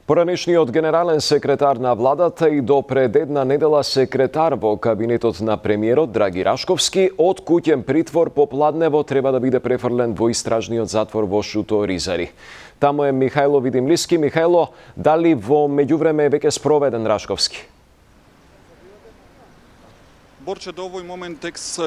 Поранешниот генерален секретар на владата и до пред една недела секретар во кабинетот на премиерот Драги Рашковски од куќен притвор по Пладнево треба да биде префрлен во истражниот затвор во Шуто Ризари. Таму е Михајло Видимлиски. Михајло, дали во меѓувреме е веќе спроведен Рашковски? Борче, до овој момент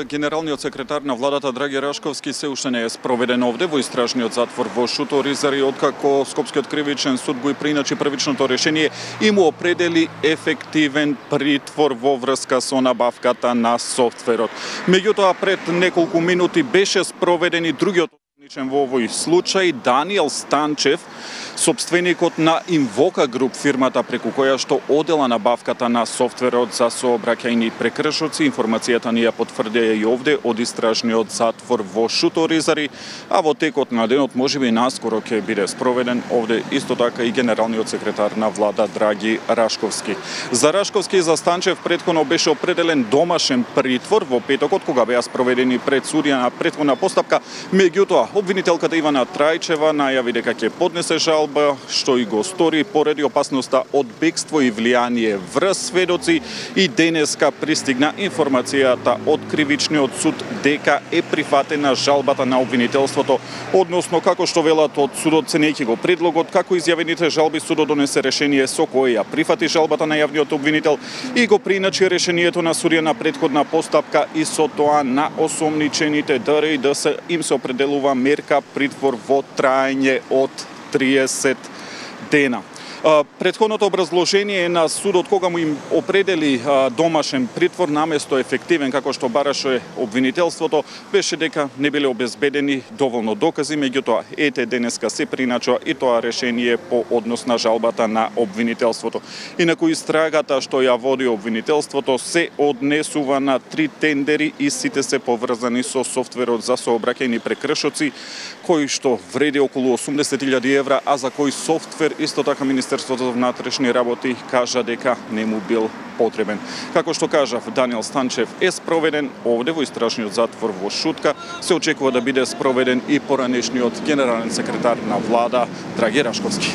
генералниот секретар на владата Драги Рашковски се уште не е спроведен овде во истражниот затвор во Шуто Ризари, откако Скопскиот кривичен суд го и приначи првичното решение и му определи ефективен притвор во врска со набавката на софтверот. Меѓутоа, пред неколку минути беше спроведен и другиот во овој случај Даниел Станчев, собственикот на Инвока Груп, фирмата преку која што одела набавката на софтверот за сообраќајни прекршоци. Информацијата ни ја потврдија и овде од истражниот затвор во Шуто Ризари, а во текот на денот можеби наскоро ќе биде спроведен овде исто така и генералниот секретар на влада Драги Рашковски. За Рашковски и за Станчев претходно беше определен домашен притвор во петокот, кога беа спроведени пред судија на претходна постапка. Меѓутоа, обвинителката Ивана Трајчева најави дека ќе поднесе жалба, што и го стори поради опасноста од бегство и влијание врз сведоци, и денеска пристигна информацијата од кривичниот суд дека е прифатена жалбата на обвинителството, односно како што велат од судот, ценејќи го предлогот како изјавените жалби, судот донесе решение со кое ја прифати жалбата на јавниот обвинител и го приначи решението на судија на претходна постапка, и со тоа на осомничените ДР да се им се определува мерка притвор во траење од 30 дена. Претходното образложение на судот, кога му им определи домашен притвор наместо ефективен, како што бараше обвинителството, беше дека не биле обезбедени доволно докази. Меѓутоа, ете денеска се приначува и тоа решение по однос на жалбата на обвинителството. Инаку истрагата што ја води обвинителството се однесува на 3 тендери и сите се поврзани со софтверот за сообраќајни прекршоци, кој што вреди околу 80.000 евра, а за кој софтвер исто така Министерството за внатрешни работи кажа дека не му бил потребен. Како што кажав, Даниел Станчев е спроведен овде во истражниот затвор во Шутка. Се очекува да биде спроведен и поранешниот генерален секретар на влада Драги Рашковски.